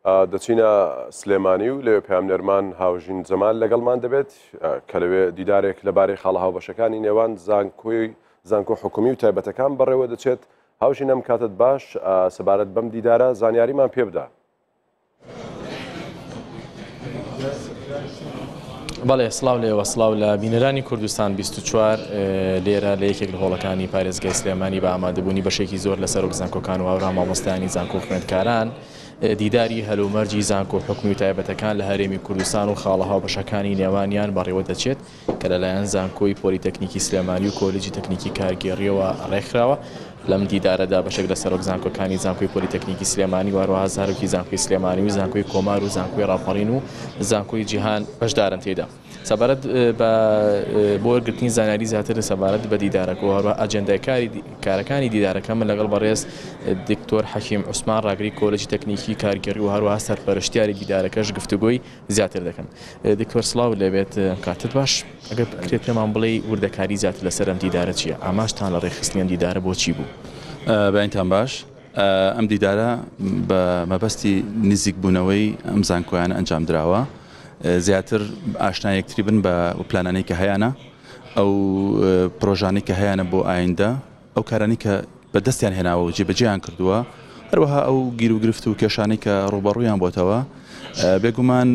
دەچینە سلێمانی و لەوێ پەیامنێرمان هاوژین جەمال لەگەڵمان دەبێت کە لەوێ دیدارێک لەبارەی خاڵە هاوبەشەکانی نێوان زانکۆی زانکۆ حکومی و تایبەتەکان بەڕێوە دەچێت. هاوژین ئەم کاتت باش، سەبارەت بەم دیدارە زانیاریمان پێ بدە. بەڵێ سڵاو لێوە سڵاو لە بینەرانی کوردستان 24 لێرە لە یەکێک لە هۆڵەکانی پارێزگای سلێمانی بە ئامادەبوونی بەشێکی زۆر لە سەرۆک زانکۆکان و هاورا مامۆستایانی زانکۆ خوێندکاران دیداری هەلومەرجی زانکۆ حکومی و تایبەتەکان لە هەرێمی کوردستان و خاڵە هاوبەشەکانی نێوانیان بەڕێوە دەچێت کە لەلایەن زانکۆی پۆلیتەکنیکی سلێمانی و کۆلیجی تەکنیکی کارگێڕییەوە ڕێکخراوە. لەم دیدارەدا بەشێک لە سەرۆک زانکۆکانی زانکۆی پۆلیتەکنیکی سلێمانی و هەروەها زارۆکی زانکۆی سلێمانی و زانکۆی کۆمار و زانکۆی ڕاپەڕین و زانکۆی جیهان بەشدارن تێیدا. سەبارەت بە بۆ وەرگرتنی زانیاری زیاتر سەبارەت بە دیدارەکە و هەروەها ئەجێندای کاری کارەکانی دیدارەکە من لەگەڵ بەڕێز دکتۆر حەکیم عوسمان ڕاگری کۆلێجی تەکنیکی کارگێڕی و هەروەها سەرپەرشتیاری دیدارەکەش گفتوگۆی زیاتر دەکەن. دکتۆر سڵاوت لێبێت کاتت باش ئەگەر بکرێت پێمان بڵێی وردەکاری زیاتر لەسەر ئەم دیدارە چییە؟ ئامانجتان لە ڕێکخستنی ئەم دیدارە بۆچی بوو؟ بەینتان باش ئەم دیدارە بە مەبەستی نزیکبوونەوەی ئەم زانکۆیانە ئەنجام دراوە زیاتر ئاشنا یەکتری بن بە پلانانەی کە هەیانە ئەو پرۆژانەی کە هەیانە بۆ ئایندە ئەو کارانەی کە بەدەستیان هێناوە و جێبەجێیان کردووە، هەروەها ئەو گیروگرفت و کێشانەی کە ڕووبەڕوویان بۆتەوە. بێگومان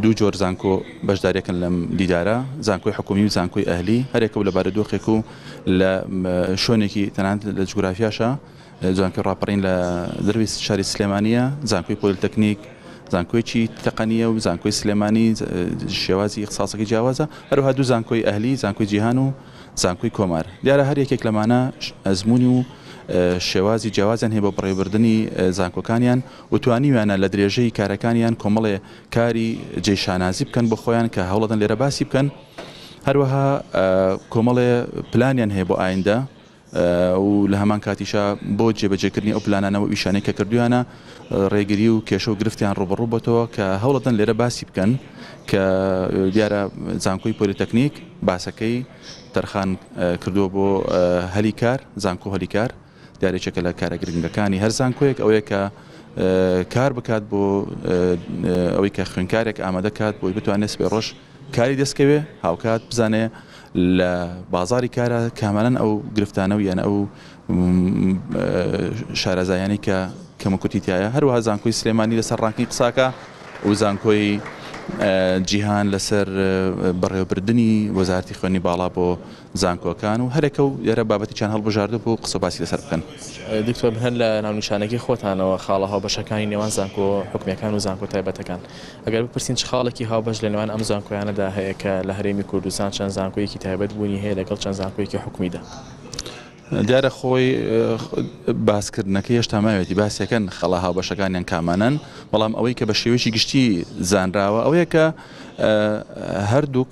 دوو جۆر زانکۆ بەشداریەکەن لەم دیدارە، زانکۆی حکومی و زانکۆی ئەهلی، هەرێکە و لە بارودۆخێک و لە شوێنێکی تەنانەت لە جوگرافیاشە، زانکۆی ڕاپەڕین لە دەروی شاری سلێمانییە، زانکۆی پۆلیتەکنیک زانکۆیەکی تەقەنییە و زانکۆی سلێمانی شێوازی ئیختساسەکەی جیاوازە، هەروەها دوو زانکۆی ئەهلی، زانکۆی جیهان و زانکۆی کۆمار. دیارە هەر یەکێک لەمانە ئەزموونی و شێوازی جیاوازیان هەیە بۆ بەڕێوەبردنی زانکۆکانیان و توانیویانە لە درێژەی کارەکانیان کۆمەڵێ کاری جێی شانازی بکەن بۆ خۆیان کە هەوڵەدەن لێرە باسی بکەن. هەروەها کۆمەڵێ پلانیان هەیە بۆ ئایندە و لە هەمان کاتیشا بۆ جێبەجێکردنی ئەو پلانانە و ئیشانەی کە کردویانە ڕێگری و کێشە و گرفتیان ڕووبەڕوو بۆتەوە کە هەوڵەدەن لێرە باسی بکەن کە دیارە زانکۆی پۆلیتەکنیک باسەکەی تەرخان کردووە بۆ هەلی کار زانکۆ هەلی کار دیارە یەکێکە لە کارە گرنگەکانی هەر زانکۆیەک ئەوەیە کە کار بکات بۆ ئەوەی کە خوێنکارێک ئامادە کات بۆی بتوانێت سبەی ڕۆژ کاری دەستکەوێ هاوکات بزانێ لە بازاری کارە کامانەن ئەو گرفتانە و یان ئەو شارەزایانەی کە کەموکورتی تایە هەروەها زانکۆی سلێمانی لەسەر ڕانکینگ قساکە و زانکۆی جیهان لەسەر بەڕێوەبردنی وەزارەتی خوێندنی باڵا بۆ زانکۆکان و هەرێکە و لێرە بابەتێکیان هەڵبژاردووە بۆ قسە باسی لەسەر بکەن. دکتۆر هەر لە ناونیشانەکەی خۆتانەوە خاڵە هاوبەشەکانی نێوان زانکۆ حکومییەکان و زانکۆ تایبەتەکان ئەگەر بپرسین چ خاڵێکی هاوبەش لە نێوان ئەم زانکۆیانەدا هەیە کە لە هەرێمی کوردستان چەند زانکۆیەکی تایبەت بوونی هەیە لەگەڵ چەند زانکۆیەکی حکومیدا؟ دیارە خۆی باسکردنەکەی هێشتا ماوێتی باسیەکەن خەڵە هاوبەشەکانیان کامانەن، بەڵام ئەوەی کە بە شێوەیەکی گشتی زانراوە ئەوەیە کە هەردووک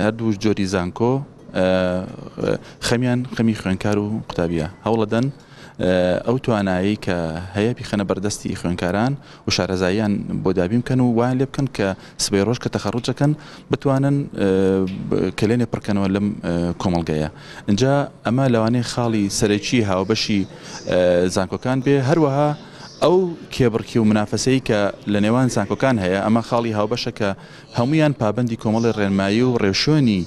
هەردوو جۆری زانکۆ خەمیان خەمی خوێنکار و قوتابیە هەوڵەدەن ئەو توانایەی کە هەیە بیخەنە بەردەستی خوێندکاران و شارەزاییان بۆ دابین بکەن و وایان لێ بکەن کە سبەی ڕۆژ کە تەخەڕوج دەکەن بتوانن کەلێنێ پڕکەنەوە لەم کۆمەڵگەیە. ئینجا ئەمە لەوانەیە خاڵی سەرەکی هاوبەشی زانکۆکان بێ، هەروەها ئەو کێبڕکێ و منافەسەی کە لە نێوان زانکۆکان هەیە ئەمە خاڵی هاوبەشە کە هەموویان پابەندی کۆمەڵی ڕێنمایی و ڕێوشوێنی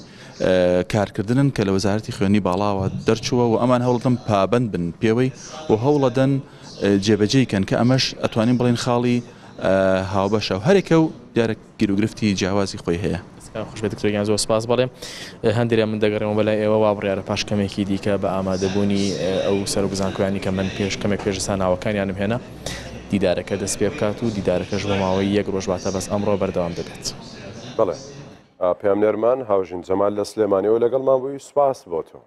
کارکردنن کە لە وەزارەتی خوێندنی باڵاوە دەرچووە و ئەمان هەوڵدەن پابەند بن پێوەی و هەوڵەدەن جێبەجێی کەن کە ئەمەش ئەتوانین بڵێین خاڵی هاوبەشە و هەرێکە و دیارە گیروگرفتی جیاوازی خۆی هەیە. دەستتان خۆش بێت دکتۆر گیان زۆر سپاس. بەڵێ هەندێک من دەگەڕێمەوە بەلای ئێوە وا بڕیارە پاش کەمێکی دیکە بە ئامادەبوونی ئەو سەرۆک زانکۆیانی کە من پێش کەمێک پێش ئێستا ناوەکانیانم هێنا دیدارەکە دەست پێ بکات و دیدارەکەش بۆ ماوەی یەک ڕۆژ واتە بەس ئەمڕۆ بەردەوام دەبێت. بەڵێ پەیامنێرمان هاوژین جەمال لە سلێمانیەوە لەگەڵمان بووی سوپاس بۆ تۆ.